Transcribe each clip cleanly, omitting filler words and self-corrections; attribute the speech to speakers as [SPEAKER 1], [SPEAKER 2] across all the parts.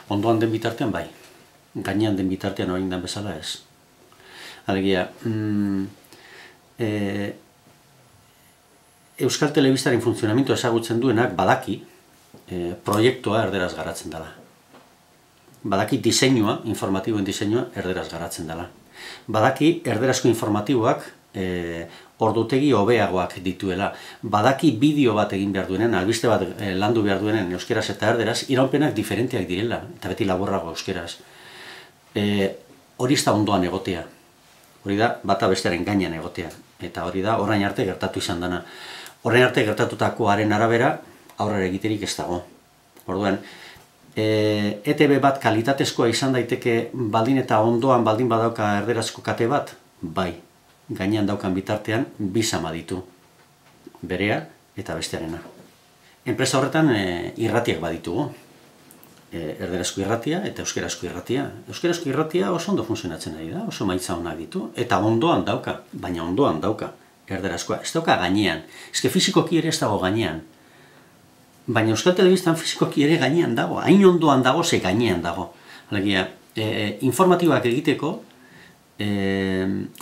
[SPEAKER 1] Ondoan den bitartean bai, gainean den bitartean orain den bezala ez. Alegia, Euskal Telebistaren funtzionamendu ezagutzen duenak badaki proiektua erderaz garatzen dela. Badaki diseinua, informatiboen diseinua erderaz garatzen dela. Badaki erderazko informatiboak ordutegi hobeagoak dituela. Badaki bideo bat egin behar duenen, albiste bat landu behar duenen euskeraz eta erderaz, iraunpenak diferenteak direla, eta beti laburrago euskeraz. Hori ez da ondoan egotea. Hori da bata bestearen gainean egotea. Eta hori da orain arte gertatu izan dena. Orain arte gertatutakoaren arabera aurrera egiterik ez dago. Orduan, ETB bat kalitatezkoa izan daiteke baldin eta ondoan baldin badauka erderazko kate bat? Bai, gainean daukan bitartean bi sama ditu. Berea eta bestearena. Enpresa horretan irratiak baditugu. Erderazko irratia eta euskerazko irratia. Euskerazko irratia oso ondo funtzionatzen ari da, oso maitza onak ditu. Eta ondoan dauka, baina ondoan dauka erderazkoa. Ez dauka gainean. Ez fizikoki ere ez dago gainean. Baina Euskal Telebistan fizikoki ere gainean dago. Hain ondoan dago, ze gainean dago. Alegia, informatiboak egiteko,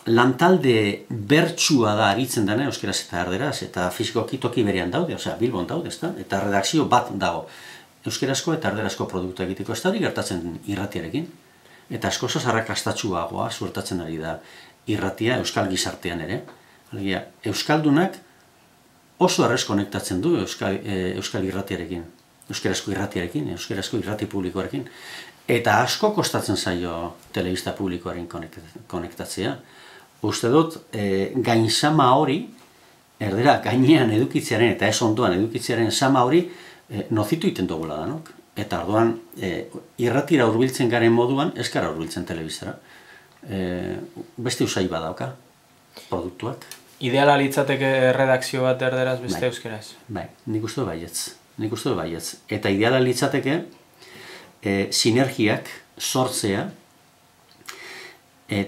[SPEAKER 1] lantalde bertsua da aritzen dena euskeraz eta erderaz, eta fizikoki toki berean daude, osea, Bilbon daude, ezta? Eta redakzio bat dago. Euskerazko eta erderazko produktu egiteko. Ez da hori gertatzen irratiarekin. Eta askoz arrakastatsuagoa suertatzen ari da irratia euskal gizartean ere. Alegia, euskaldunak oso errez konektatzen du euskal irratiarekin, euskerazko irratiarekin, euskerazko irrati publikoarekin. Eta asko kostatzen zaio telebista publikoaren konektatzea. Uste dut, gainsama hori, erdera gainean edukitzearen eta ez ondoan edukitzearen sama hori, nozitu iten dugula danok. Eta orduan, irratira hurbiltzen garen moduan, ez gara hurbiltzen telebistara. Beste usai badauka, produktuak.
[SPEAKER 2] Ideala litzateke redakzio bat erderaz beste euskeraz?
[SPEAKER 1] Bai, nik uste baietz. Eta ideala litzateke sinergiak sortzea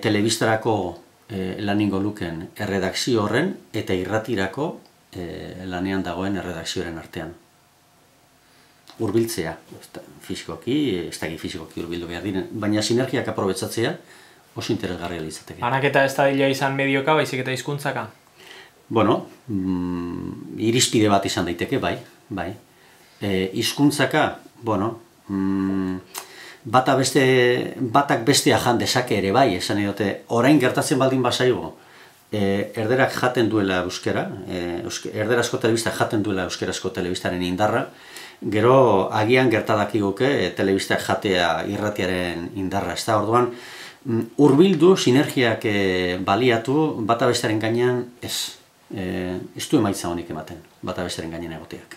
[SPEAKER 1] telebistarako laningo luken erredakzio horren eta irratirako lanean dagoen erredakzioaren artean. Hurbiltzea, fizikoki, ez da fizikoki hurbildu behar diren, baina sinergiak aprobetzatzea oso interesgarria litzateke.
[SPEAKER 2] Banaketa ez da dila izan medioka, baizik eta hizkuntzaka?
[SPEAKER 1] Bueno, irizpide bat izan daiteke, bai. Hizkuntzaka, bueno, batak bestea jan dezake ere bai, esan edote, orain gertatzen baldin bazaigo, erderak jaten duela euskera, erderazko telebista jaten duela euskerazko telebistaren indarra, gero agian gertadakiguke telebistak jatea irratiaren indarra, ez da, orduan, hurbildu, sinergiak baliatu, bata bestearen gainean ez du emaitza honik ematen, bata bestearen gainean egoteak.